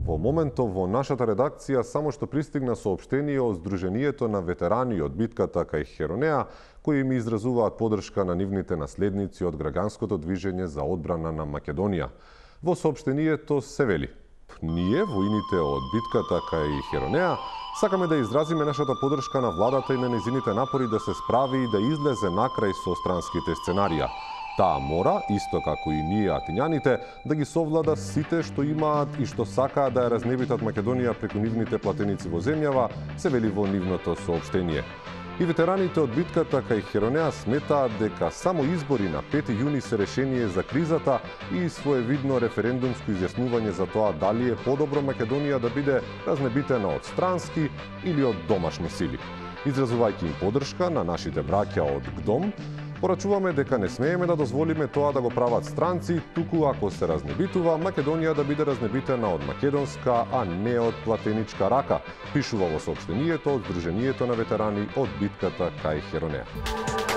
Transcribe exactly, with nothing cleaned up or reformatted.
Во моментов во нашата редакција само што пристигна соопштение од Сдруженијето на ветерани од битката кај Херонеа, кои ми изразуваат подршка на нивните наследници од граѓанското движење за одбрана на Македонија. Во соопштението се вели: ние, воините од битката кај Херонеа, сакаме да изразиме нашата подршка на владата и на незините напори да се справи и да излезе накрај со странските сценарија. Таа мора, исто како и ние атињаните, да ги совлада сите што имаат и што сакаат да ја разнебитат Македонија преку нивните платеници во земјава, се вели во нивното соопштение. И ветераните од битката кај Херонеа сметаат дека само избори на пети јуни се решение за кризата и своевидно референдумско изјаснување за тоа дали е подобро Македонија да биде разнебитена од странски или од домашни сили. Изразувајќи им подршка на нашите браќа од ГДОМ, порачуваме дека не смееме да дозволиме тоа да го прават странци, туку ако се разнебитува, Македонија да биде разнебитена од македонска, а не од платеничка рака, пишува во соопштението од Сдруженијето на ветерани од битката кај Херонеа.